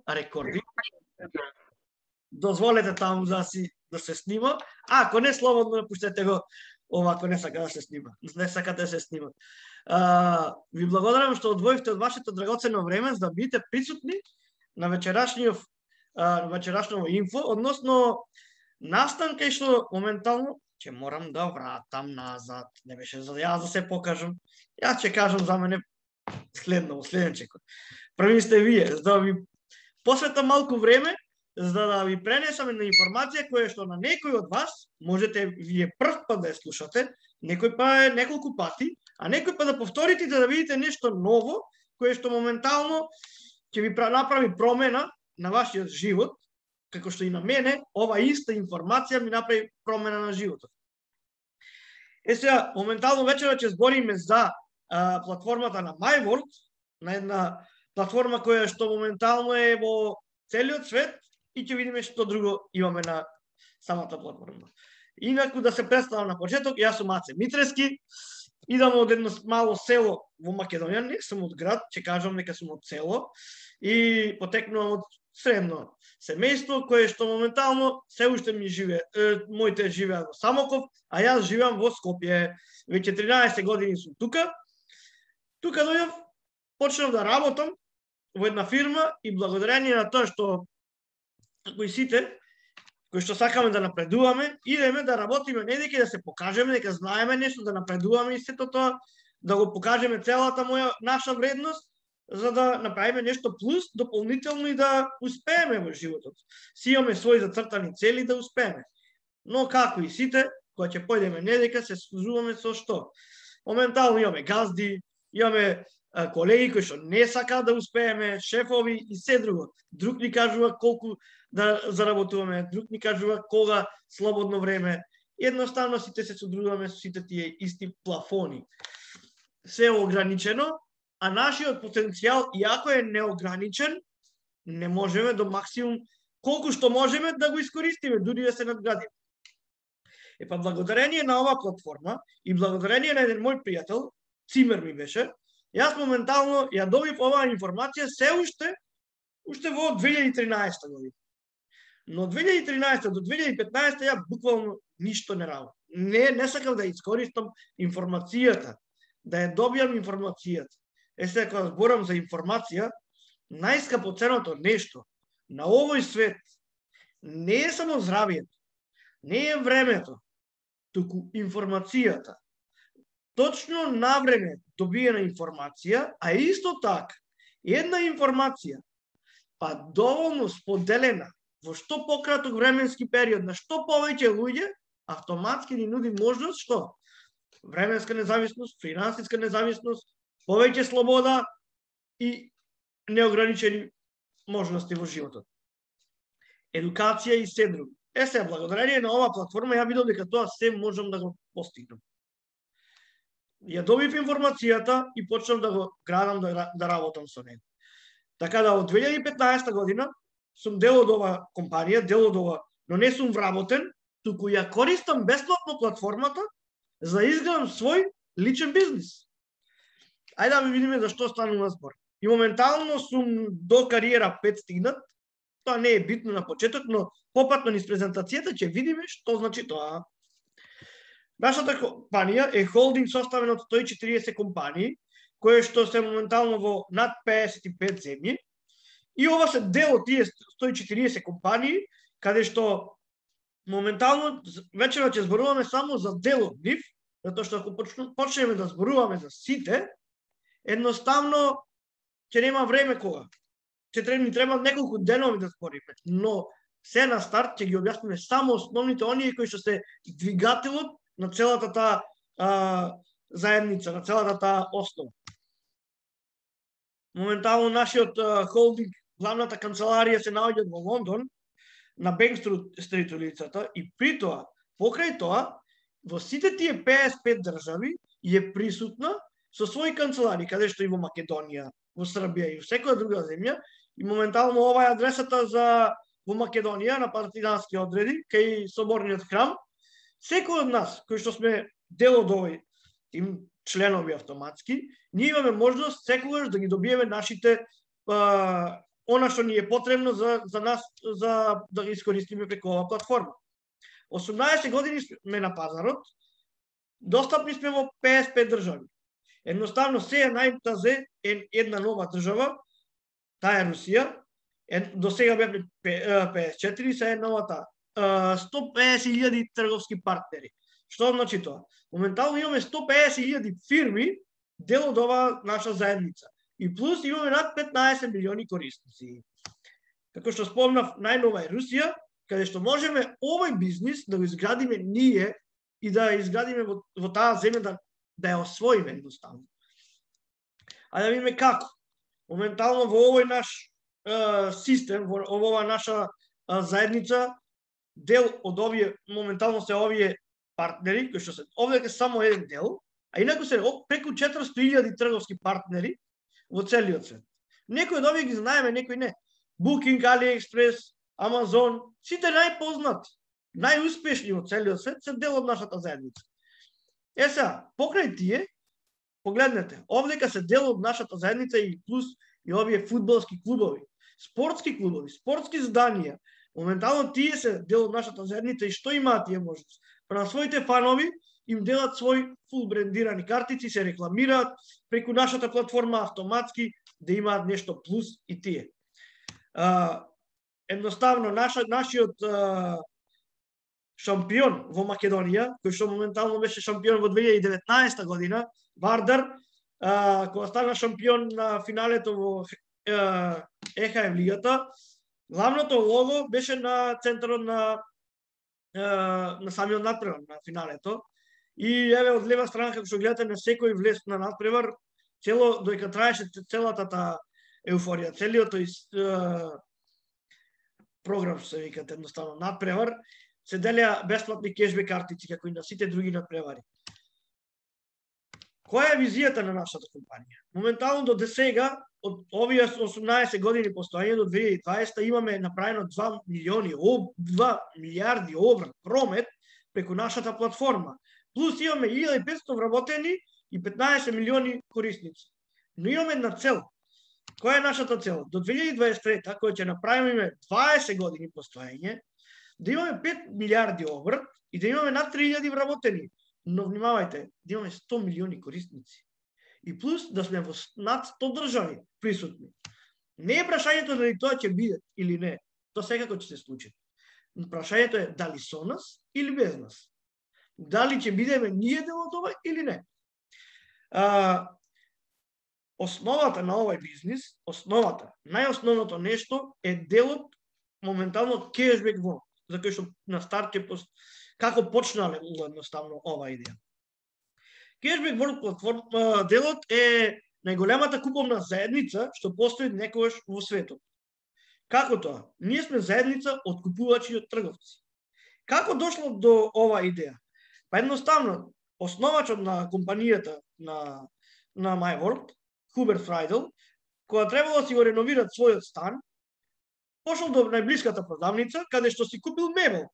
рекорди. Дозволете таму да се снима. Ако не, слободно пуштете го ова, ако не сака да се снима. Не сакате да се снима. Ви благодарам што одвоивте од вашето драгоцено време за да бидете присутни на вечерашното инфо, односно настан кај што моментално ќе морам да вратам назад. Не беше за јас да се покажам. Јас ќе кажам за мене следен чекор. Први сте вие, за да ви посветам малку време, за да ви пренесам една информација која што на некој од вас можете вие прв пат да ја слушате, некој па неколку пати, а некој па да повторите да видите нешто ново, кое што моментално ќе ви направи промена на вашиот живот, како што и на мене, ова иста информација ми направи промена на животот. Сега, моментално вечера ќе збориме за платформата на MyWorld, на една платформа која што моментално е во целиот свет и ќе видиме што друго имаме на самата платформа. Инаку да се представам на почеток, јас сум Аце Митрески, идам од едно мало село во Македонија, не сум од град, ќе кажам дека сум од село и потекнувам од средно семејство кое што моментално се уште ми моите живеат во Самоков, а јас живеам во Скопје. Веќе 13 години сум тука. Тука дојдов, почнав да работам во една фирма и благодарение на тоа што кои сите кои што сакаме да напредуваме, идеме да работиме не дека да се покажеме, дека знаеме нешто, да напредуваме и сето тоа, да го покажеме целата наша вредност, за да направиме нешто плюс, дополнително и да успееме во животот. Си имаме своји зацртани цели да успееме. Но како и сите, кога ќе појдеме не дека се служуваме со што? Моментално имаме газди, имаме колеги кои што не сакаат да успееме, шефови и се друго. Друг ни кажува колку да заработуваме, друг ни кажува кога слободно време. Едноставно сите се содружуваме со сите тие исти плафони. Се е ограничено, а нашиот потенцијал, иако е неограничен, не можеме до максимум, колку што можеме да го искористиме, дури да се надградиме. Па благодарение на оваа платформа и благодарение на еден мој пријател, Цимер ми беше, јас моментално ја добив оваа информација се уште во 2013 година. Но од 2013 до 2015 ја буквално ништо не работам. Не сакав да искористам информацијата, да ја добијам информацијата. Сега кога зборам за информација, најскапоценото нешто на овој свет не е само здравието, не е времето, туку информацијата. Точно на време добиена информација, а исто така една информација, па доволно споделена во што пократок временски период на што повеќе луѓе, автоматски ни нуди можност што? Временска независност, финансиска независност, повеќе слобода и неограничени можности во животот. Едукација и се друго. Сега, благодарение на оваа платформа, ја видов дека тоа се можам да го постигнам. Ја добив информацијата и почнав да го градам, да работам со него. Така да од 2015 година сум дел од оваа компанија, дел од ова, но не сум вработен, туку ја користам бесплатно платформата за да изградам свој личен бизнис. Ајде да видиме за што станува збор. И моментално сум до кариера 5 стигнат. Тоа не е битно на почеток, но попатно низ презентацијата ќе видиме што значи тоа. Нашата компанија е холдинг составен од 140 компании, кои што се моментално во над 55 земји. И ова се дел од тие 140 компании, каде што моментално вечера ќе зборуваме само за дел од нив, затоа што ако почнеме да зборуваме за сите, едноставно ќе нема време кога. Ни треба неколку денови да збориме, но се на старт ќе ги објасниме само основните оние кои што се двигателот на целата таа заедница, на целата таа основа. Моментално нашиот холдинг, главната канцеларија се наоѓа во Лондон, на Банк Стрит улицата, и при тоа, покрај тоа, во сите тие 55 држави е присутна со своји канцелари, каде што и во Македонија, во Србија и во секоја друга земја, и моментално ова е адресата за во Македонија на партизански одреди кај соборниот храм. Секој од нас кои што сме дел од овој тим, членови автоматски, ние имаме можност секогаш да ги добиеме нашите она што ни е потребно за нас за да ги искористиме преку оваа платформа. 18 години сме на пазарот, достапни сме во 55 држави. Едноставно се најтазе една нова држава, таа е Русија. До сега бевме 54, се е новата 150.000 трговски партнери. Што значи тоа? Моментално имаме 150.000 фирми дел од оваа наша заедница. И плюс имаме над 15 милиони корисници. Како што спомнав, најнова е Русија, каде што можеме овој бизнис да го изградиме ние и да изградиме во таа земја да ја освоиме едноставно. А да видиме како. Моментално во овој наш систем, во оваа наша заедница, дел од овие, моментално се овие партнери, кои што се овде само еден дел, а инаку се преку 400.000 трговски партнери во целиот свет. Некои од овие ги знаеме, некои не. Booking, AliExpress, Amazon, сите најпознати, најуспешни во целиот свет се дел од нашата заедница. Сега, покрај тие, погледнете, овдека се дел од нашата заедница и плюс и овие фудбалски клубови, спортски клубови, спортски зданија. Моментално тие се дел од нашата заедница и што имаат тие можности? На своите фанови им делат свој фул брендирани картици, се рекламираат преку нашата платформа автоматски да имаат нешто плюс и тие. Едноставно, нашиот шампион во Македонија, кој што моментално беше шампион во 2019 година, Вардар, кога стана шампион на финалето во ЕХФ лигата, главното лого беше на центарот на самиот надпревар на финалето. И еве од лева страна, како што гледате, на секој влез на надпревар, додека траеше целата таа еуфорија, целиот тој програм, се викат едноставно, надпревар, се делеа бесплатни кешбек картици, како и на сите други надпревари. Која е визијата на нашата компанија? Моментално до досега, од овие 18 години постоење до 2020, имаме направено 2 милиарди обрат промет преку нашата платформа. Плюс имаме 1500 вработени и 15 милиони корисници. Но имаме една цел. Која е нашата цел? До 2023, која ќе направиме 20 години постоење, да имаме 5 милиарди обрат и да имаме над 3000 вработени. Но внимавајте, да имаме 100 милиони корисници. И плюс да сме во над 100 држави присутни. Не е прашањето дали тоа ќе биде или не. Тоа секако ќе се случи. Прашањето е дали со нас или без нас. Дали ќе бидеме ние дел од ова или не. Основата на овој бизнис, најосновното нешто е делот моментално кешбек во, за кој што на старт како почнале едноставно оваа идеја. Кешбек World платформа делот е најголемата куповна заедница што постои некогаш во светот. Како тоа? Ние сме заедница од купувачи и од трговци. Како дошло до оваа идеја? Па едноставно, основачот на компанијата на MyWorld, Хуберт Фрајдел, кога требало да си го реновират својот стан, пошол до најблиската продавница, каде што си купил мебел.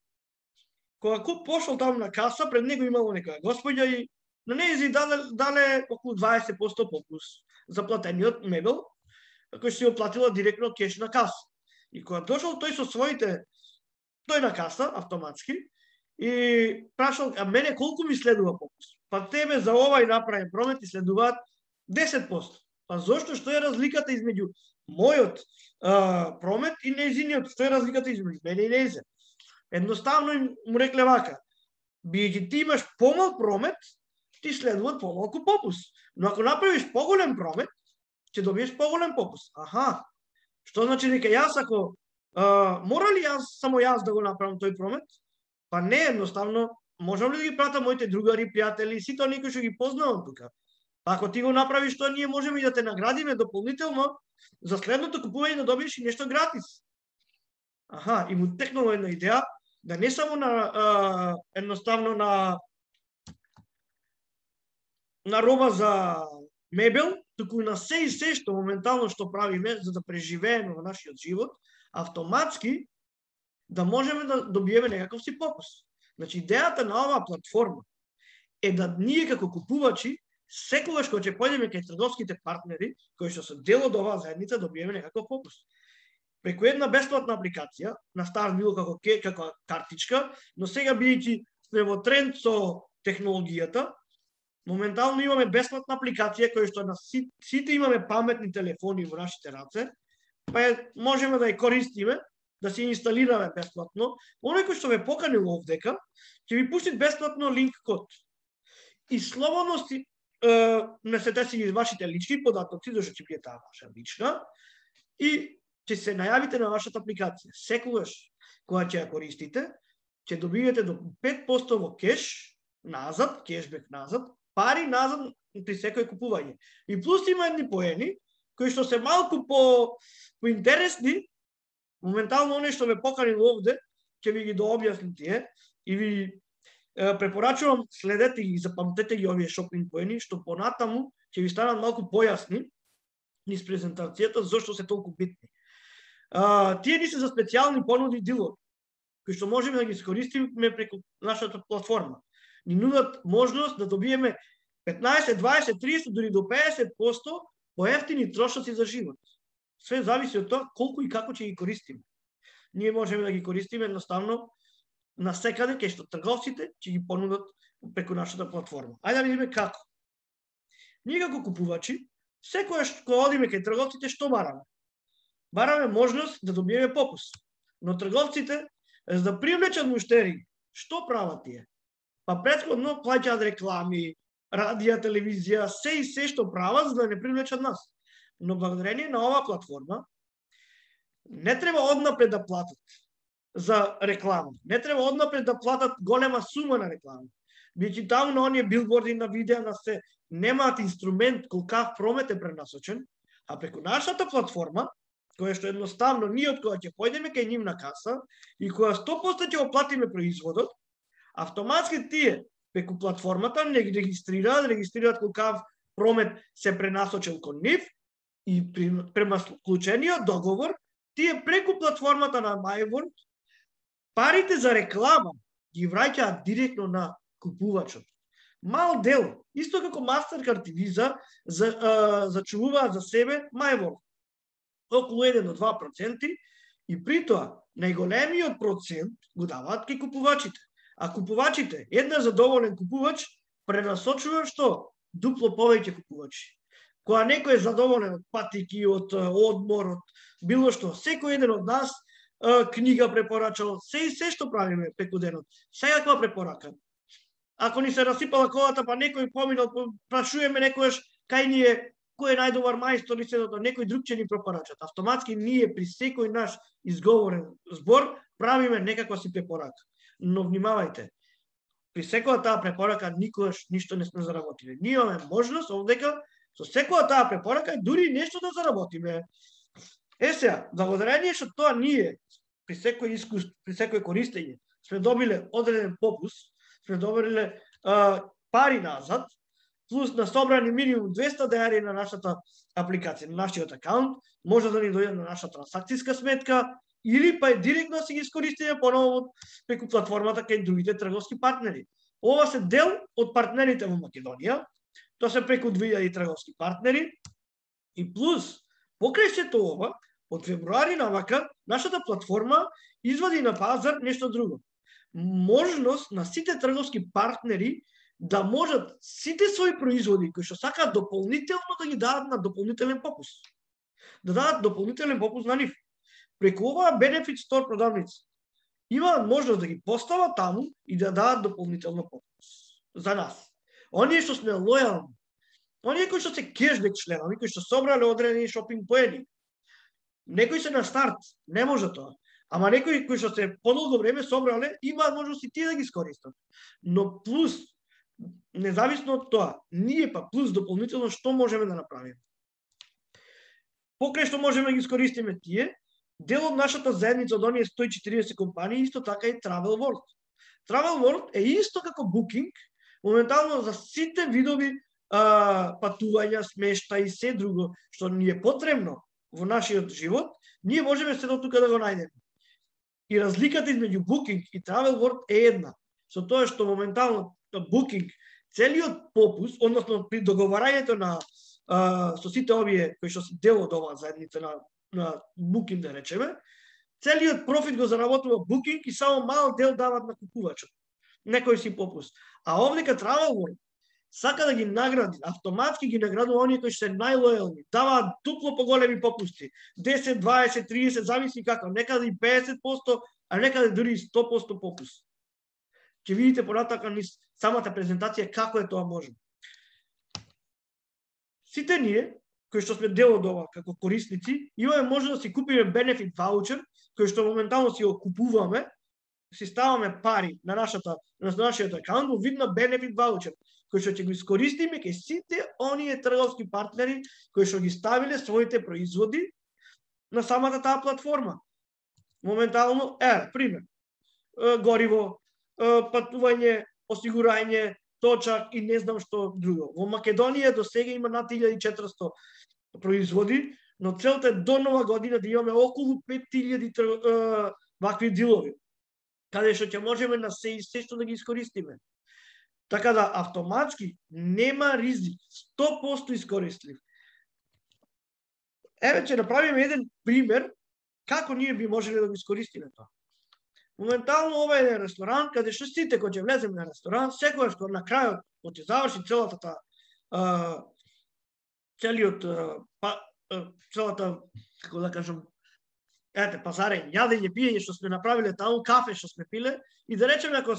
Кога пошол таму на каса, пред него имало некоја господја и на нејзи дале околу 20% попус за платениот мебел, кој си го платила директно кеш на каса. И кога дошол тој со своите, тој на каса, автоматски, и прашал, а мене колку ми следува попус? Па тебе за овај направен промет и следуваат 10%. Па зошто, што е разликата измеѓу мојот промет и нејзиниот? Што е разликата измеѓу мене и нејзе? Едноставно му рекле вака, бидејќи ти имаш помал промет, ти следуваат помалку попус. Но ако направиш поголем промет, ќе добиеш поголем попус. Аха, што значи дека јас ако мора ли само јас да го направам тој промет? Па не, едноставно, можам ли да ги пратам моите другари, пријатели, сите оние кои што ги познавам тука? Па ако ти го направиш тоа, ние можеме и да те наградиме дополнително за следното купување да добиеш и нешто гратис. Аха, и му текнала една идеја да не само на едноставно на роба за мебел, туку и на се и се што моментално што правиме за да преживееме во нашиот живот, автоматски да можеме да добиеме некаков си попус. Значи, идејата на оваа платформа е да ние како купувачи секогаш кога ќе појдеме кај трговските партнери, кои што се дел од оваа заедница, добиеме некаков попус. преку една бесплатна апликација, на старт било како картичка, но сега бидејќи сме во тренд со технологијата, моментално имаме бесплатна апликација која што на сите имаме паметни телефони во нашите раце, па можеме да ја користиме, да се инсталираме бесплатно. Оној кој што ве поканил овдека, ќе ви пушти бесплатно линк код. И слободно несете си ги вашите лични податоци, зашто ќе биде таа ваша лична, и ќе се најавите на вашата апликација. Секогаш кога ќе ја користите, ќе добиете до 5% во кеш назад, кешбек назад, пари назад при секој купување. И плюс има едни поени кои што се малку поинтересни. Моментално оној што ме поканил овде, ќе ви ги дообјаснам тие и ви препорачувам, следете ги, запамтете ги овие шопинг поени, што понатаму ќе ви станат малку појасни низ презентацијата зошто се толку битни. Тие ни се за специјални понуди дилови, кои што можеме да ги искористиме преку нашата платформа. Ни нудат можност да добиеме 15, 20, 30, дури до 50% поевтини трошоци за живот. Све зависи од тоа колку и како ќе ги користиме. Ние можеме да ги користиме едноставно на секаде кај што трговците ќе ги понудат преку нашата платформа. Ајде да видиме како. Ние како купувачи, секогаш кога одиме кај трговците, што бараме? Бараме можност да добиеме попуст. Но трговците, за да привлечат муштери, што прават тие? Па претходно плаќаат реклами, радија, телевизија, се што прават за да не привлечат нас. Но благодарение на оваа платформа не треба однапред да платат за реклама. Не треба однапред да платат голема сума на реклама. Бидејќи таму на оние билборди, на видеа, на се немаат инструмент колкав промет е пренасочен, а преку нашата платформа, која што едноставно ние од кога ќе појдеме кај нив на каса и која 100% ќе оплатиме производот, автоматски тие преку платформата не ги регистрираат колкав промет се пренасочил кон нив и према склучениот договор, тие преку платформата на MyWorld парите за реклама ги враќаат директно на купувачот. Мал дел, исто како Mastercard и Visa, зачувуваат за себе MyWorld. Околу 1 до 2%, и при тоа најголемиот процент го даваат кај купувачите. А купувачите, една задоволен купувач, пренасочува што? Дупло повеќе купувачи. Кога некој е задоволен од патики, од одмор, од било што, секој еден од нас книга препорачал, се што правиме преку денот. Секаква препорака. Ако ни се расипала колата, па некој поминал, прашуваме некојаш кај ни е, кој е најдобар мајстор и седото, некој друг ќе ни препорачат. Автоматски ние при секој наш изговорен збор правиме некаква си препорака. Но внимавајте, при секоја таа препорака никогаш ништо не сме заработиле. Ние имаме можност овдека со секоја таа препорака дури нешто да заработиме. Сега, благодарение што тоа ние при секој искуство, при секој користење сме добиле одреден попуст, сме добиле пари назад, плюс на собрани минимум 200 денари на нашата апликација, на нашиот акаунт, може да ни дојде на наша трансакцијска сметка, или па директно си ги искористиме поново преку платформата кај другите трговски партнери. Ова се дел од партнерите во Македонија, тоа се преку 2000 трговски партнери, и плюс, покрај сето ова, од февруари навака, нашата платформа извади на пазар нешто друго. Можност на сите трговски партнери да можат сите своји производи кои што сакаат дополнително да ги дадат на дополнителен попуст. Да дадат дополнителен попуст на нив. Преку оваа Benefit Store продавница имаат можност да ги постават таму и да дадат дополнително попуст за нас. Оние што сме лојални, оние кои што се кешбек членови, кои што собрале одредени шопинг поени. Некои се на старт, не може тоа. Ама некои кои што се подолго време собрале, имаат можност и тие да ги искористат. Но плюс, независно од тоа, ние па плюс дополнително што можеме да направиме? Покрај што можеме да ги искористиме тие, дел од нашата заедница од оние 140 компании исто така и Travel World. Travel World е исто како Booking, моментално за сите видови патувања, смешта и се друго што ни е потребно во нашиот живот, ние можеме се до тука да го најдеме. И разликата измеѓу Booking и Travel World е една. Со тоа што моментално Booking целиот попуст, односно при договарањето на со сите овие кои што се дел од оваа заедница на на Booking, да речеме, целиот профит го заработува Booking и само мал дел дават на купувачот. Некој си попуст. А овдека Travel World сака да ги награди, автоматски ги наградува оние кои се најлојални, даваат дупло поголеми попусти, 10, 20, 30, зависи како, некаде и 50%, а некаде дури 100% попуст. Ќе видите понатака низ самата презентација како е тоа можно. Сите ние, кои што сме дел од ова како корисници, имаме можност да си купиме benefit voucher, кој што моментално си го купуваме, си ставаме пари на нашиот акаунт во вид на benefit voucher, кој што ќе го искористиме кај сите оние трговски партнери кои што ги ставиле своите производи на самата таа платформа. Моментално, пример, гориво, патување, осигурање, точак и не знам што друго. Во Македонија до сега има над 1400 производи, но целта е до нова година да имаме околу 5000 вакви дилови, каде што ќе можеме на се што да ги искористиме. Така да автоматски нема ризик, 100% искористлив. Еве ќе направиме еден пример како ние би можеле да го искористиме тоа. Моментално ова е ресторан каде што сите кога ќе влеземе на ресторан, секогаш кога на крајот кога ќе заврши целата како да кажам, пазарење, јадење, пиење што сме направиле таму, кафе што сме пиле, и да речеме ако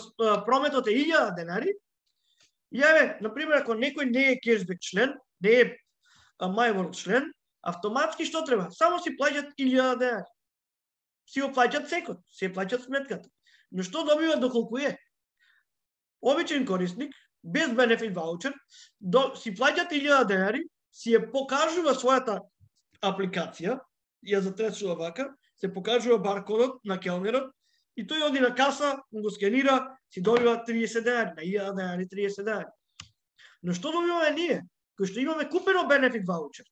прометот е 1000 денари, јаве, например, ако некој не е кешбек член, не е MyWorld член, автоматски што треба? Само си плаќат 1000 денари. Си го плаќат секот, си плаќат сметката. Но што добива доколку е? Обичен корисник, без benefit voucher, си плаќат 1000 денари, си ја покажува својата апликација, ја затресува вака, се покажува баркодот на келнерот и тој оди на каса, го скенира, си добива 30 денари, на 1000 денари 30 денари. Но што добиваме ние, кои што имаме купено benefit voucher?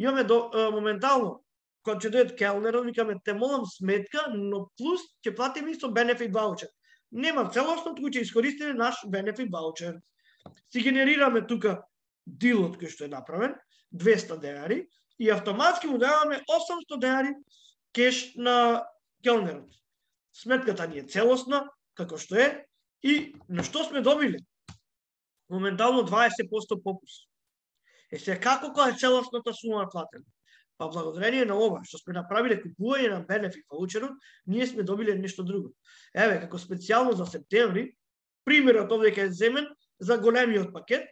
Имаме моментално, кога ќе дојдат келнерот, викаме, те молам сметка, но плюс ќе платиме и со benefit voucher. Нема целосно, туку ќе искористиме наш benefit voucher. Си генерираме тука дилот кој што е направен, 200 денари, и автоматски му даваме 800 денари кеш на келнерот. Сметката ни е целосна, како што е, и на што сме добили? Моментално 20% попуст. Сега како кога е целосната сума платена? Па благодарение на ова што сме направиле купување на benefit voucherот, ние сме добиле нешто друго. Еве, како специјално за септември, примерот овде е земен за големиот пакет,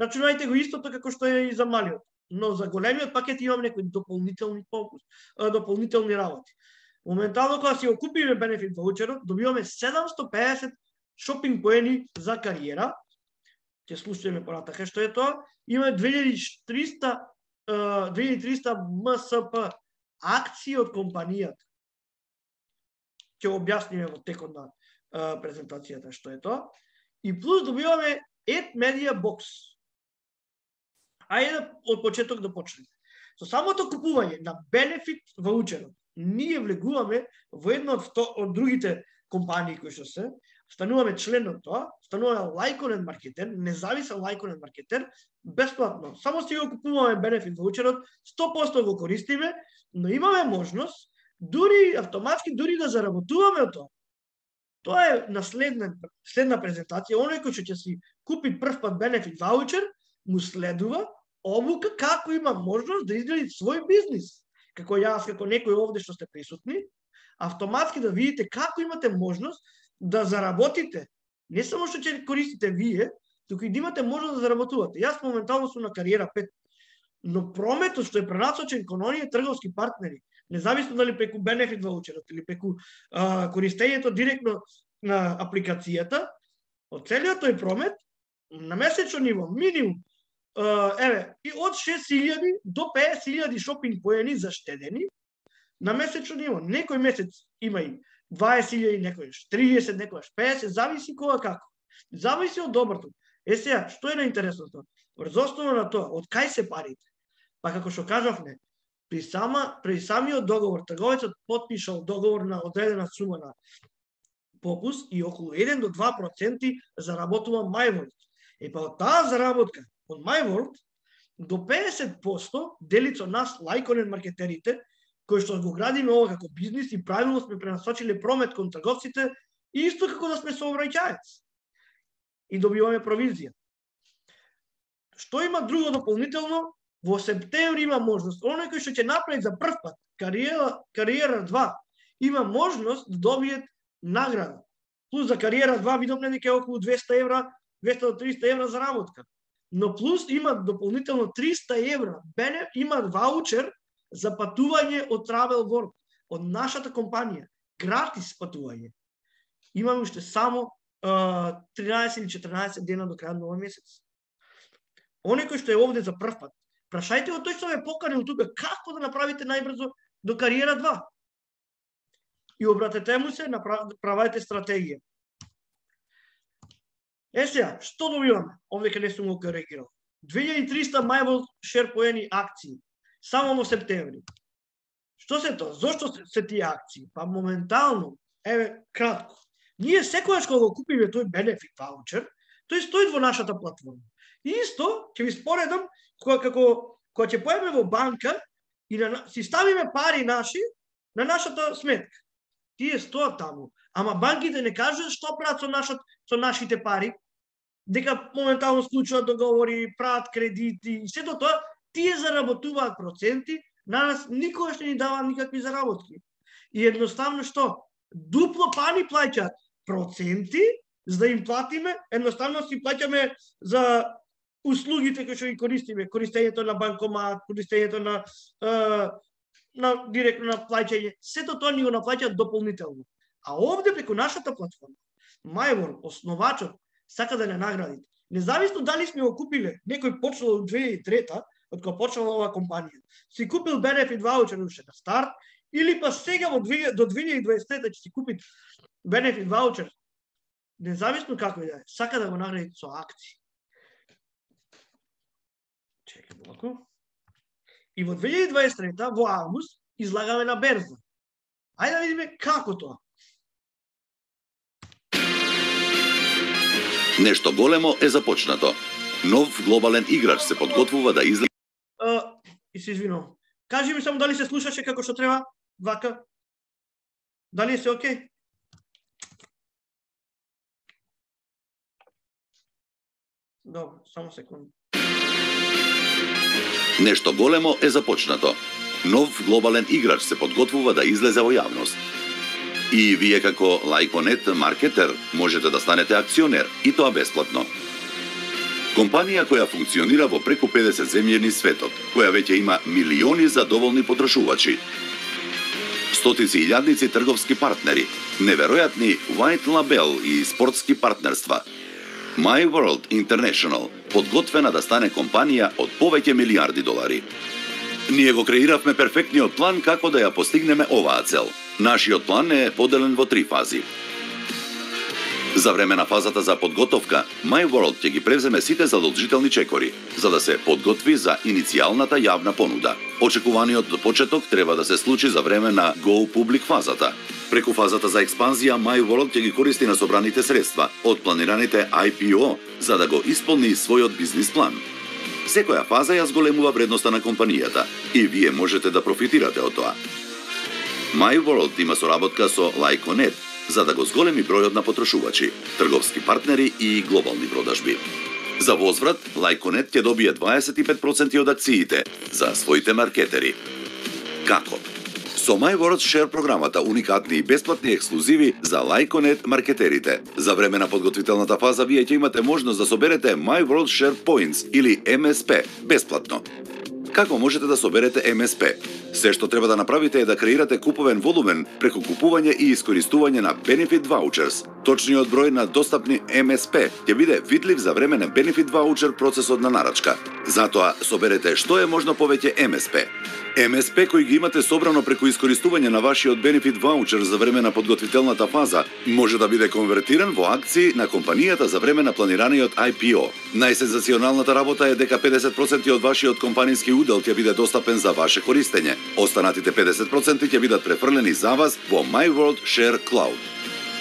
рачунајте го истото како што е и за малиот. Но за големиот пакет имам некои дополнителни работи. Моментално кога си го купиме benefit voucherот, добиваме 750 шопинг поени за кариера. Ќе слушаме понатака што е тоа. Имаме 2300 МСП акции од компанијата. Ќе објасниме во текот на презентацијата што е тоа. И плюс добиваме Ad Media Box. Ајде од почеток да почнеме. Со самото купување на benefit voucherот, ние влегуваме во една од другите компании кои што се, стануваме член од тоа, стануваме лајконен маркетер, независен лајконен маркетер, бесплатно. Само си го купуваме benefit voucherот, 100% го користиме, но имаме можност дури автоматски дури да заработуваме од тоа. Тоа е на следна презентација. Оној кој ќе си купи прв пат benefit voucher, му следува обука како има можност да изгради свој бизнис. Како јас, како некој овде што сте присутни, автоматски да видите како имате можност да заработите. Не само што ќе користите вие, туку и да имате можност да заработувате. Јас моментално сум на кариера 5, но прометот што е пренасочен кон оние трговски партнери, независно дали преку benefit voucherот или преку користењето директно на апликацијата, од целиот тој промет на месечно ниво минимум и од 6000 до 5000 шопинг поени заштедени на месечно ниво. Некој месец има и 20.000, некојаш 30, некојаш 50, зависи кога како. Зависи од доброто. Сега, што е наинтересното? Врз основа на тоа, од кај се парите? Па како што кажавме, при самиот договор, трговецот потпишал договор на одредена сума на попуст и околу 1 до 2% заработува MyWorld. Па од таа заработка од MyWorld, до 50% дели со нас лајконет маркетерите, кои што го градиме ова како бизнис и правилно сме пренасочили промет кон трговците, исто како да сме сообраќаец. И добиваме провизија. Што има друго дополнително? Во септември има можност. Оној кој што ќе направи за прв пат кариера 2, има можност да добие награда. Плюс за кариера 2 видовме дека е околу 200 евра, 200 до 300 евра за работка. Но плюс има дополнително 300 евра. Има ваучер за патување од Travel World, од нашата компанија. Гратис патување. Имаме уште само 13 или 14 дена до крајот на овој месец. Оној кој што е овде за прв пат, прашајте го тој што ве поканил тука, како да направите најбрзо до кариера 2. И обратете му се, направете стратегија. Сега, што добиваме? Овде каде сум го коригирал. 2300 MyWorld Share поени акции, само во септември. Што се тоа? Зошто се тие акции? Па моментално, кратко. Ние секогаш кога го купиме тој benefit voucher, тој стои во нашата платформа. И исто, ќе ви споредам, кога ќе поеме во банка и си ставиме пари наши на нашата сметка. Тие стоат таму. Ама банките не кажат што прават со нашите пари, дека моментално склучуваат договори, прават кредити и сето тоа, тие заработуваат проценти, на нас никогаш не ни даваат никакви заработки. И едноставно што? Дупло пани плаќаат проценти, за да им платиме, едноставно си плаќаме за услугите кои што ги користиме, користењето на банкомат, користењето на директно на плаќање, сето тоа ни го наплаќаат дополнително. А овде преку нашата платформа, MyWorld, основачот, сака да не наградите. Независно дали сме го купиле, некој почнал од 2003-та, од кога почнала оваа компанија, си купил benefit voucher уште на старт, или па сега до 2023-та ќе си купи benefit voucher, независно како и да е, сака да го наградите со акции. Чекај малку. И во 2023-та, во август, излагаме на берза. Ајде да видиме како тоа. Нешто големо е започнато. Нов глобален играч се подготвува да излезе. И се извинувам. Кажи ми само дали се слушаше како што треба, вака. Дали се окей? Добро, само секунда. Нешто големо е започнато. Нов глобален играч се подготвува да излезе во јавност. И вие како лајконет маркетер можете да станете акционер, и тоа бесплатно. Компанија која функционира во преку 50 земји низ светот, која веќе има милиони задоволни потрошувачи, стотици илјадници трговски партнери, неверојатни white label и спортски партнерства. MyWorld International, подготвена да стане компанија од повеќе милиарди долари. Ние го креиравме перфектниот план како да ја постигнеме оваа цел. Нашиот план е поделен во 3 фази. За време на фазата за подготовка, MyWorld ќе ги превземе сите задолжителни чекори, за да се подготви за иницијалната јавна понуда. Очекуваниот почеток треба да се случи за време на Go Public фазата. Преку фазата за експанзија, MyWorld ќе ги користи на собраните средства од планираните IPO, за да го исполни својот бизнис план. Секоја фаза ја зголемува вредноста на компанијата и вие можете да профитирате од тоа. MyWorld има соработка со лајконет, за да го зголеми бројот на потрошувачи, трговски партнери и глобални продажби. За возврат, лајконет ќе добие 25% од акциите за своите маркетери. Како? Со MyWorld Share програмата уникатни и бесплатни ексклузиви за лајконет маркетерите. За време на подготвителната фаза вие ќе имате можност да соберете MyWorld Share Points или MSP бесплатно. Како можете да соберете МСП? Се што треба да направите е да креирате куповен волумен преку купување и искористување на Benefit Vouchers. Точниот број на достапни МСП ќе биде видлив за време на Benefit Voucher процесот на нарачка. Затоа соберете што е можно повеќе МСП. МСП кои ги имате собрано преку искористување на вашиот Benefit Voucher за време на подготвителната фаза може да биде конвертиран во акции на компанијата за време на планираниот IPO. Најсензационалната работа е дека 50% од вашиот компаниски удел ќе биде достапен за ваше користење. Останатите 50% ќе бидат префрлени за вас во MyWorld Share Cloud.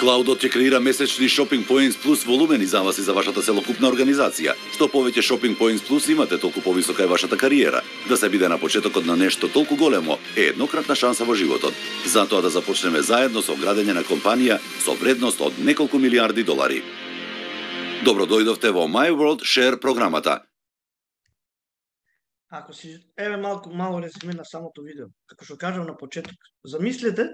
Клаудот ќе креира месечни Shopping Points Plus волумени за вас и за вашата целокупна организација. Што повеќе Shopping Points Plus имате, толку повисока е вашата кариера. Да се биде на почетокот на нешто толку големо е еднократна шанса во животот. Затоа да започнеме заедно со градење на компанија со вредност од неколку милиарди долари. Добро дојдовте во My World Share програмата. Ако си еве мало резюме на самото видео, како што кажав на почеток, замислете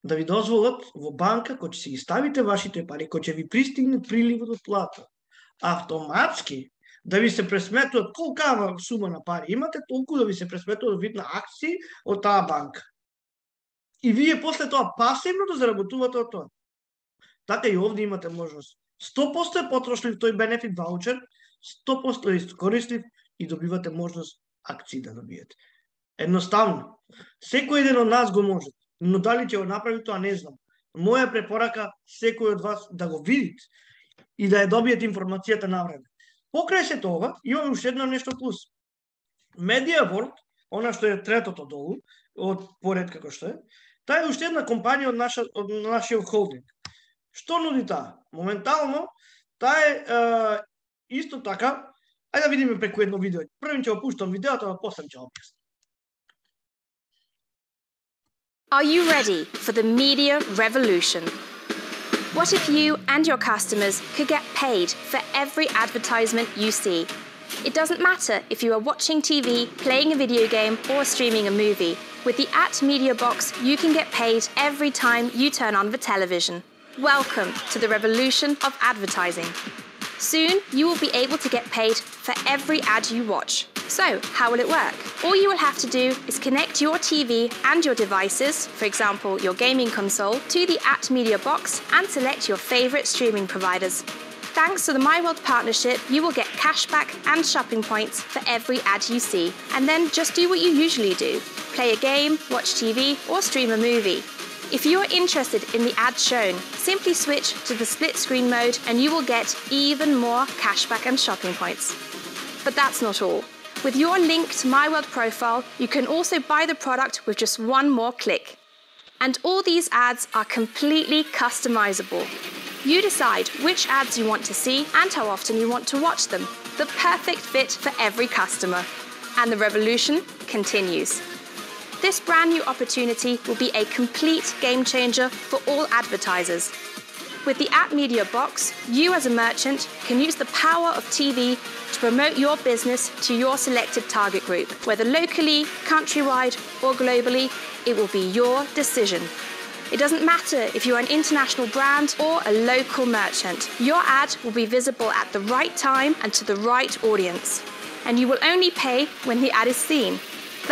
да ви дозволат во банка кој ќе си ги ставите вашите пари, кој ќе ви пристигне приливот од плата, автоматски да ви се пресметуваат колкава сума на пари имате, толку да ви се пресметуваат вид на акции од таа банка. И вие после тоа пасивно да заработувате од тоа. Така и овде имате можност. 100% е потрошлив тој бенефит ваучер, 100% е искористив и добивате можност акции да добиете. Едноставно, секој ден од нас го може, но дали ќе го направи тоа не знам. Моја препорака секој од вас да го видите и да ја добиете информацијата на време. Покрај се тоа, имаме уште едно нешто плюс. MediaWorld, она што е третото долу, од поред како што е, таа е уште една компанија од нашиот холдинг. Што нуди таа? Моментално, таа е исто така, ајде да видиме преку едно видео. Првим ќе го пуштам видеото, а после ќе објаснам. Are you ready for the media revolution? What if you and your customers could get paid for every advertisement you see? It doesn't matter if you are watching TV, playing a video game, or streaming a movie. With the @Media Box, you can get paid every time you turn on the television. Welcome to the revolution of advertising. Soon, you will be able to get paid for every ad you watch. So, how will it work? All you will have to do is connect your TV and your devices, for example, your gaming console, to the @Media Box and select your favorite streaming providers. Thanks to the MyWorld partnership, you will get cashback and shopping points for every ad you see. And then just do what you usually do. Play a game, watch TV, or stream a movie. If you are interested in the ad shown, simply switch to the split screen mode and you will get even more cashback and shopping points. But that's not all. With your linked MyWorld profile, you can also buy the product with just one more click. And all these ads are completely customizable. You decide which ads you want to see and how often you want to watch them. The perfect fit for every customer. And the revolution continues. This brand new opportunity will be a complete game changer for all advertisers. With the @Media Box, you as a merchant can use the power of TV to promote your business to your selected target group. Whether locally, countrywide, or globally, it will be your decision. It doesn't matter if you're an international brand or a local merchant. Your ad will be visible at the right time and to the right audience. And you will only pay when the ad is seen.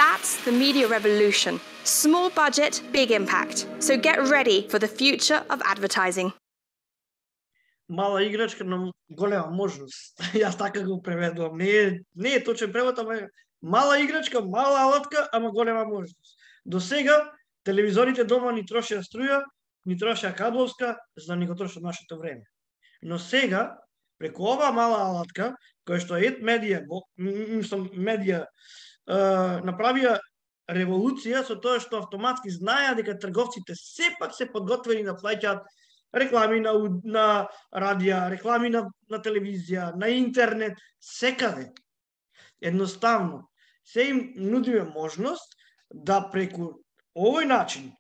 That's the media revolution. Small budget, big impact. So get ready for the future of advertising. Мала играчка на голема можност. Јас така го преведувам. Не е точен превод, ама мала играчка, мала алатка, ама голема можност. До сега телевизорите дома ни трошеа струја, ни трошеа кабловска, за да ни го трошат нашето време. Но сега, преку ова мала алатка, која што е медија, направија револуција со тоа што автоматски знаеа дека трговците сепак се подготвени да плаќаат реклами на радија, реклами на телевизија, на интернет, секаде. Едноставно, се им нудиме можност да преку овој начин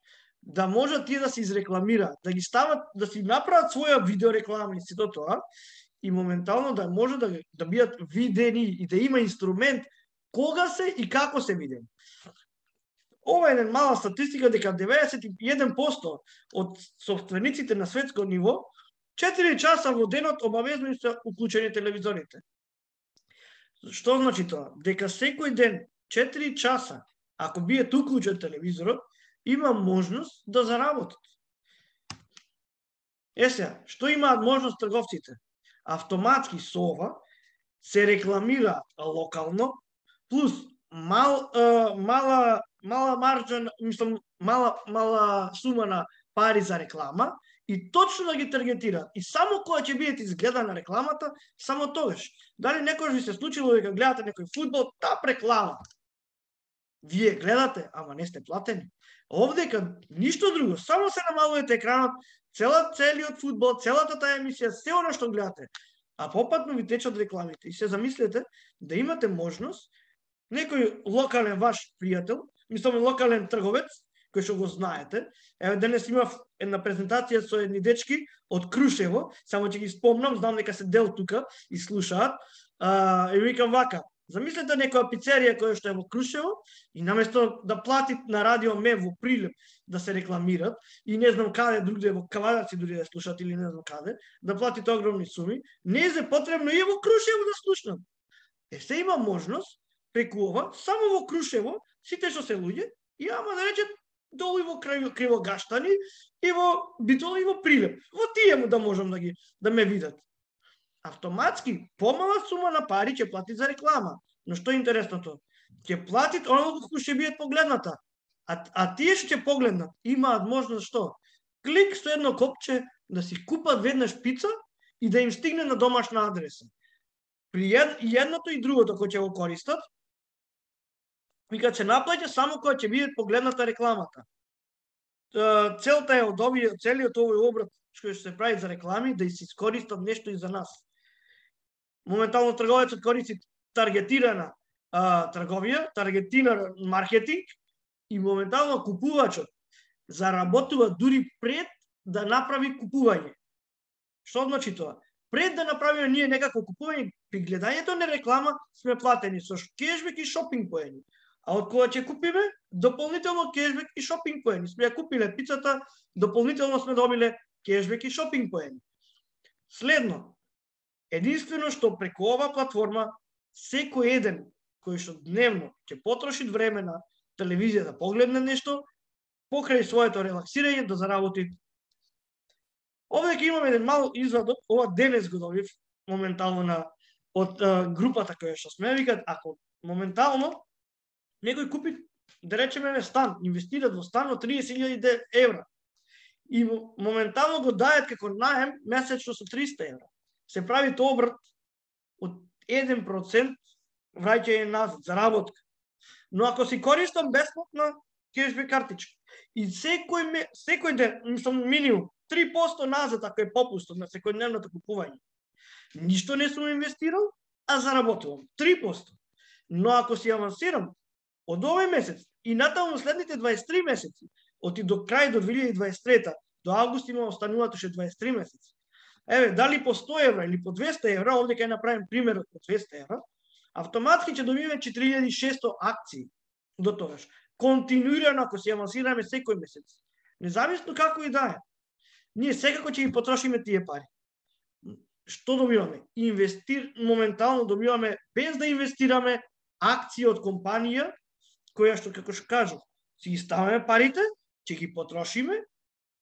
да можат тие да се изрекламираат, да ги стават, да си направат своја видеореклама и сето тоа, и моментално да може да бидат видени и да има инструмент кога се и како се видени. Ова е една мала статистика дека 91% од софтверниците на светско ниво 4 часа во денот обавезно се уклучени телевизорите. Што значи тоа? Дека секој ден 4 часа, ако биете уклучен телевизорот, има можност да заработат. Сега, што имаат можност трговците? Автоматски со ова се рекламира локално, плюс мала маржа, мала сума на пари за реклама и точно да ги таргетираат. И само кога ќе бидете изгледана рекламата, само тогаш. Дали некојаш ви се случило дека гледате некој фудбал, таа реклама. Вие гледате, ама не сте платени. Овдека ништо друго, само се намалувате екранот, целиот фудбал, целата таа емисија, се оно што гледате, а попатно ви течат рекламите. И се замислете да имате можност некој локален ваш пријател, мислам локален трговец, кој што го знаете. Еве денес имав една презентација со едни дечки од Крушево, само ќе ги спомнам, знам дека се дел тука и слушаат. И викам вака, замислете некоја пицерија која што е во Крушево и наместо да плати на радио Мев во Прилеп да се рекламират и не знам каде другаде во Кавадарци дури да слушат или не знам каде, да платите огромни суми, не е потребно и во Крушево да слушнат. Се има можност преку ова, само во Крушево, сите што се луѓе, и ама да речат долу и во Кривогаштани, и во Битола, и во Прилеп. Во тие му да можам да ме видат. Автоматски, помала сума на пари ќе плати за реклама. Но што е интересното? Ќе платит оно кој ќе биде погледната. А тие што ќе погледнат, имаат можност што? Клик со едно копче да си купат веднаш пица и да им стигне на домашна адреса. При едното и другото кој ќе го користат, вика се наплаќа само кога ќе биде погледната рекламата. Целта е од целиот овој обрат што се прави за реклами да се искористат нешто и за нас. Моментално трговецот користи таргетирана трговија, таргетиран маркетинг и моментално купувачот заработува дури пред да направи купување. Што значи тоа? Пред да направиме ние некако купување, при гледањето на реклама сме платени со кешбек и шопинг поени. А од кога ќе купиме, дополнително кешбек и шопинг поени. Сме ја купиле пицата, дополнително сме добиле кешбек и шопинг поени. Следно, единствено што преку ова платформа, секој еден кој што дневно ќе потроши време на телевизија да погледне нешто, покрај своето релаксирање да заработи. Овде имаме еден мал извадок, ова денес го добив моментално од групата која што сме, викат, ако моментално некој купи, да речеме стан, инвестират во стан од 30.000 евра и моментално го дајат како наем месечно со 300 евра. Се прави тоа обрат од 1% враќање назад, заработка. Но ако си користам бесплатна кешбек картичка и секој ден, мислам минимум 3% назад ако е попустот на секојдневното купување, ништо не сум инвестирал, а заработувам 3%. Но ако си авансирам од овој месец и натаму следните 23 месеци, оти до крај до 2023, до август има остануваат уште 23 месеци. Еве, дали по 100 евра или по 200 евра, овде ќе направим примерот по 200 евра, автоматски ќе добиеме 4600 акции до тогаш. Континуирано ако си авансираме секој месец. Независно како и да е. Ние секако ќе ги потрошиме тие пари. Што добиваме? Моментално добиваме, без да инвестираме, акции од компанија, која што, како што кажу, си ги ставаме парите, ќе ги потрошиме,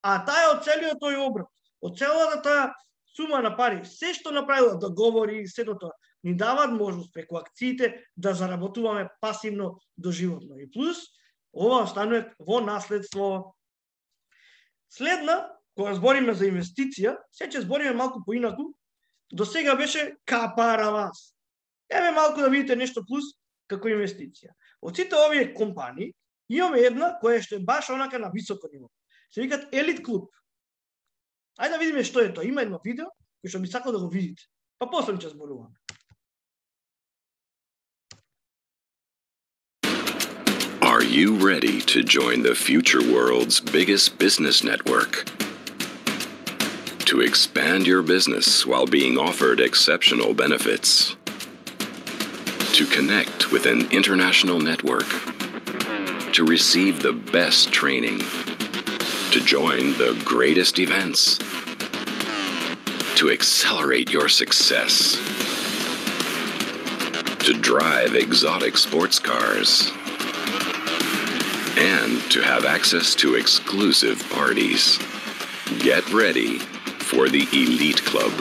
а таа е од целиот тој обрат, од целата таа сума на пари, се што направила договори, сето тоа, ни даваат можност преку акциите да заработуваме пасивно доживотно. И плюс, ова останува во наследство. Следна, кога збориме за инвестиција, се ќе збориме малку поинаку, до сега беше капаравас. Еве малку да видите нешто плюс како инвестиција. Од сите овие компании, имаме една која што е баш онака на високо ниво. Се викат Елит Клуб. Ајде да видиме што е тоа. Има едно видео кој што би сакал да го видите. Па после ќе зборуваме. Are you ready to join the future world's biggest business network? To expand your business while being offered exceptional benefits. To connect with an international network. To receive the best training. To join the greatest events. To accelerate your success. To drive exotic sports cars. And to have access to exclusive parties. Get ready for the Elite Club.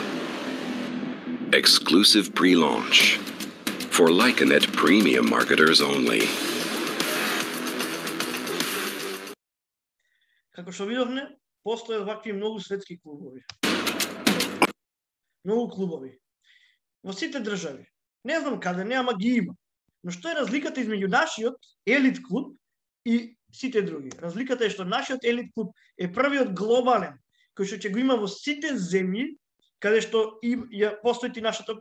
Exclusive pre-launch for Lycanet premium marketers only. Како што видовме, постојат вакви многу светски клубови. Многу клубови. Во сите држави. Не знам каде не, ама ги има. Но што е разликата измеѓу нашиот елит клуб и сите други? Разликата е што нашиот елит клуб е првиот глобален кој што ќе го има во сите земји каде што постои нашата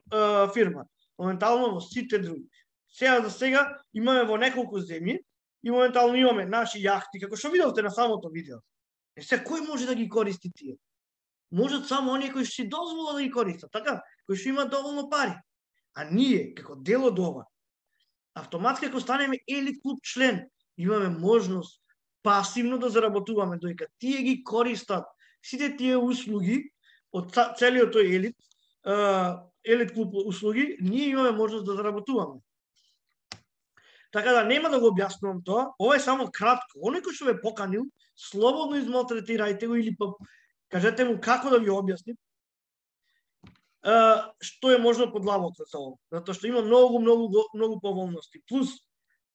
фирма. Моментално во сите други. Сега за сега имаме во неколку земји и моментално имаме наши јахти, како што видовте на самото видео. Сега кој може да ги користи тие? Можат само оние кои што си дозволат да ги користат, така? Кои што имаат доволно пари. А ние, како дел од ова, автоматски ако станеме елит клуб член, имаме можност пасивно да заработуваме, доека тие ги користат сите тие услуги од целиот тој елит клуб услуги, ние имаме можност да заработуваме. Така да нема да го објаснувам тоа, ова е само кратко. Оној кој што ве поканил, слободно измалтретирајте го или кажете му како да ви објасни што е можно подлабоко за ова, затоа што има многу поволности. Плюс,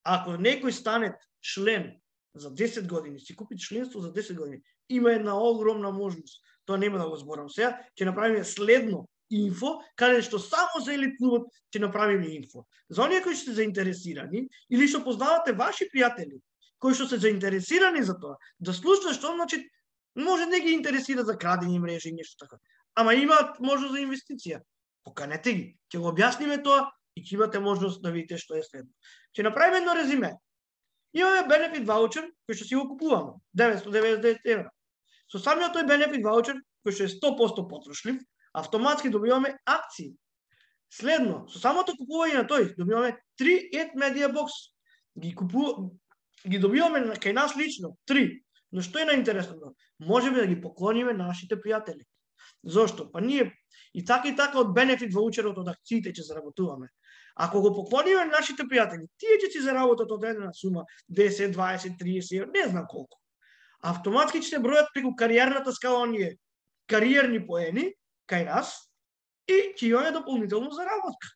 ако некој стане член за 10 години, си купи членство за 10 години, има една огромна можност. Тоа нема да го зборам сега, ќе направиме следно инфо, каде што само за елит клубот ќе направиме инфо. За оние кои што се заинтересирани или што познавате ваши пријатели, кои што се заинтересирани за тоа, да слушнат што значи може не ги интересира за крадење мрежи и нешто така. Ама имаат можност за инвестиција. Поканете ги, ќе го објасниме тоа и ќе имате можност да видите што е следно. Ќе направиме едно резиме. Имаме бенефит ваучер кој што си го купуваме, 999 евра. Со самиот тој бенефит ваучер кој што е 100% потрошлив, автоматски добиваме акции. Следно, со самото купување на тој добиваме 3 Ed Media Box. Ги добиваме кај нас лично 3. Но што е наинтересното? Можеме да ги поклониме нашите пријатели. Зошто? Па ние и така од бенефит ваучерот од акциите ќе заработуваме. Ако го поклониме нашите пријатели, тие ќе си заработат одредена сума, 10, 20, 30, не знам колку. Автоматски ќе се бројат преку кариерната скала оние кариерни поени кај нас и ќе имаме дополнително заработка.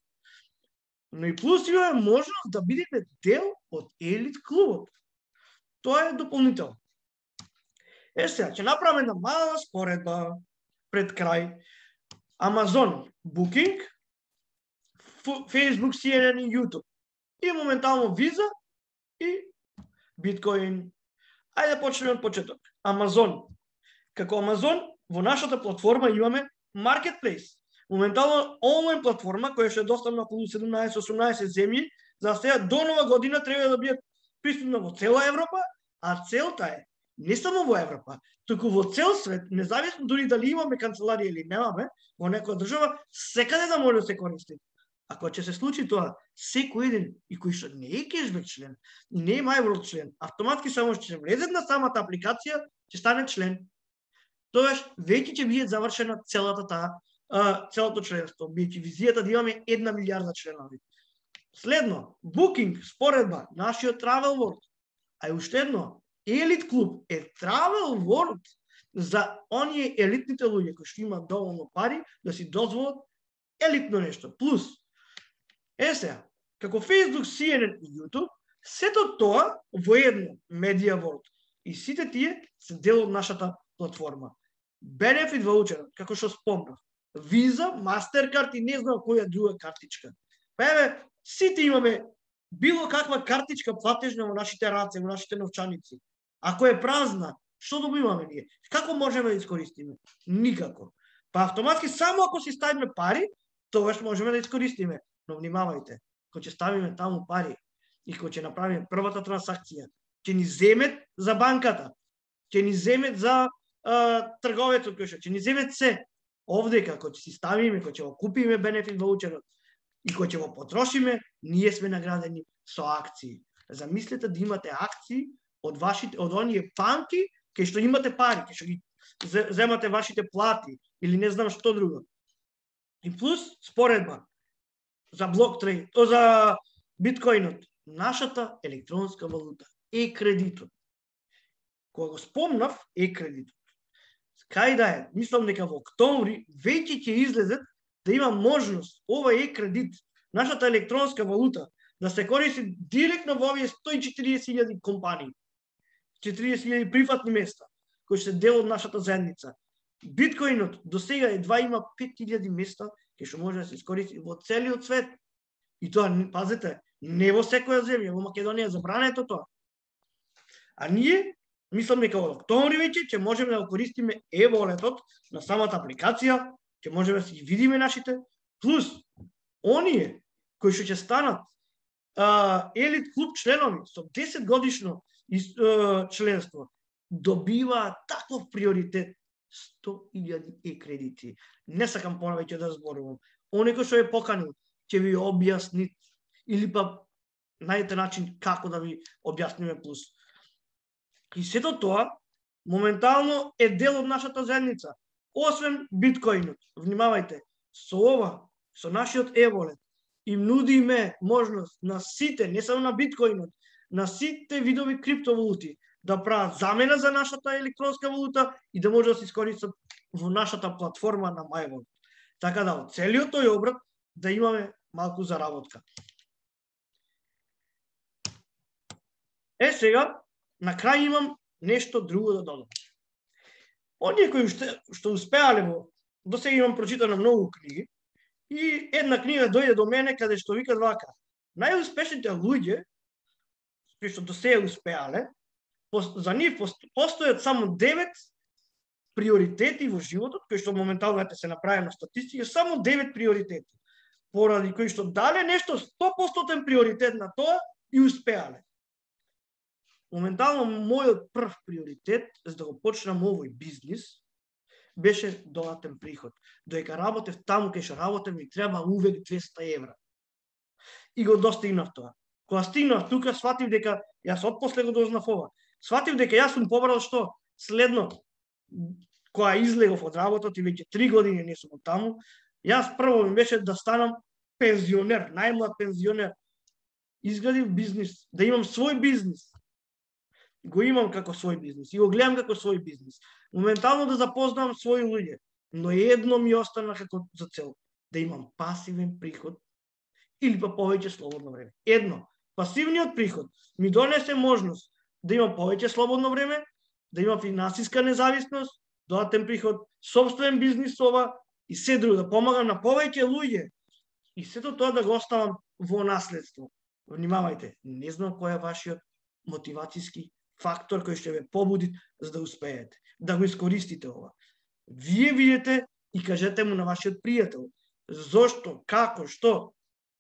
Но и плюс имаме можност да бидеме дел од елит клубот. Тоа е дополнително. Сега, ќе направиме една мала споредба пред крај. Amazon Booking, Facebook, CNN и YouTube. И моментално Visa и Bitcoin. Ајде да почнеме од почеток. Amazon. Како Amazon, во нашата платформа имаме Marketplace. Моментално онлайн платформа која што е достапна околу 17-18 земји, за сега до нова година треба да биде пристапна во цела Европа, а целта е не само во Европа, туку во цел свет, независно дури дали имаме канцеларија или немаме, во некоја држава, секаде да може да се користи. Ако ќе се случи тоа, секој еден и кој што не е кешбек член и не е MyWorld член, автоматски само ќе влезе на самата апликација, ќе стане член. Тоаш веќе ќе биде завршена целото членство, биејќи визијата да имаме 1 милијарда членови. Следно, Booking, споредба, нашиот Travel World, а и уште едно, Елит клуб е Travel World за оние елитните луѓе кои што имаат доволно пари да си дозволат елитно нешто. Плюс, сега, како Facebook, CNN и YouTube, сето тоа во едно Media World. И сите тие се дел од нашата платформа. Benefit ваучерот, како што спомнав, Visa, Mastercard и не знам која друга картичка. Па еве, сите имаме било каква картичка платежна во нашите раце, во нашите новчаници. Ако е празна, што добиваме ние? Како можеме да искористиме? Никако. Па автоматски само ако си ставиме пари, тогаш можеме да искористиме. Но внимавајте, кога ќе ставиме таму пари и кога ќе направиме првата трансакција, ќе ни земет за банката, ќе ни земет за трговецот кој ќе ни земет се. Овде како ќе си ставиме, кога ќе го купиме бенефит ваучерот и кога ќе го потрошиме, ние сме наградени со акции. Замислете да имате акции од оние банки кај што имате пари, кај што ги земате вашите плати или не знам што друго. И плюс споредба за блоктрейд, за биткоинот, нашата електронска валута е кредитот. Кога го спомнав е кредитот. Кај да е, мислам дека во октомври веќе ќе излезет да има можност ова кредит, нашата електронска валута, да се користи директно во овие 140.000 компании, 40.000 приватни места, кои се дел од нашата заедница. Биткоинот до сега едва има 5.000 места, кај што може да се искористи во целиот свет. И тоа, пазете, Не во секоја земја, во Македонија забрането тоа. А ние мислам дека од октомври веќе ќе можеме да користиме e-волетот на самата апликација, ќе можеме да си видиме нашите, плюс оние кои што ќе станат елит клуб членови со 10 годишно членство добиваат таков приоритет 100.000 e-кредити. Не сакам повеќе да зборувам. Оне кој што е поканил ќе ви објасни или па најдете начин како да ви објасниме плюс. И сето тоа моментално е дел од нашата заедница. Освен биткоинот. Внимавајте, со ова, со нашиот e-волет, им нудиме можност на сите, не само на биткоинот, на сите видови криптовалути да прават замена за нашата електронска валута и да може да се искористат во нашата платформа на MyVault. Така да од целиот тој обрат да имаме малку заработка. Сега, на крај имам нешто друго да додам. Оние кои што успеале до сега имам прочитано многу книги, и една книга дојде до мене каде што викат вака: најуспешните луѓе кои што до сега успеале, за нив постојат само 9 приоритети во животот, кои што моментално се направи на статистика, само 9 приоритети, поради кои што дале нешто 100% приоритет на тоа и успеале. Моментално мојот прв приоритет за да го почнам овој бизнис беше додатен приход. Додека работев таму кај што работев, ми треба увек 200 евра. И го достигнав тоа. Кога стигнав тука, сватив дека јас отпосле го дознав ова. Сватив дека јас сум побрал што следно, кога излегов од работот и веќе 3 години не сум таму, јас прво ми беше да станам пензионер, најмлад пензионер. Изградив бизнис, да имам свој бизнис. Го имам како свој бизнис и го гледам како свој бизнис. Моментално да запознам своји луѓе, но едно ми остана како за цел, да имам пасивен приход или па повеќе слободно време. Едно, пасивниот приход ми донесе можност да имам повеќе слободно време, да имам финансиска независност, додатен приход, сопствен бизнис ова и се друго, да помагам на повеќе луѓе и сето тоа да го оставам во наследство. Внимавајте, не знам кој е вашиот мотивацијски фактор кој ќе ве побуди за да успеете, да го искористите ова. Вие видите и кажете му на вашиот пријател зошто, како, што,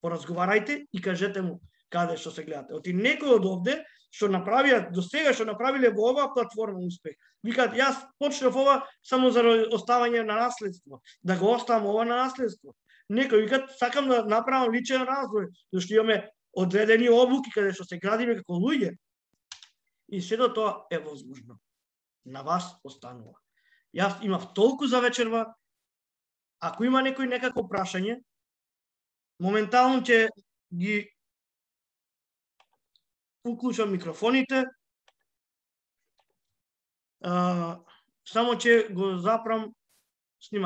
поразговарајте и кажете му каде што се гледате. Оти некој од овде што направија до сега, што направиле во оваа платформа успех, викаат јас почнав ова само за оставање на наследство, да го оставам ова на наследство. Некој викаат сакам да направам личен развој, зашто имаме одредени обуки каде што се градиме како луѓе. И сето тоа е возможно. На вас останува. Јас имав толку за вечерва. Ако има некој некако прашање, моментално ќе ги уклучам микрофоните. Само ќе го запрам снимање.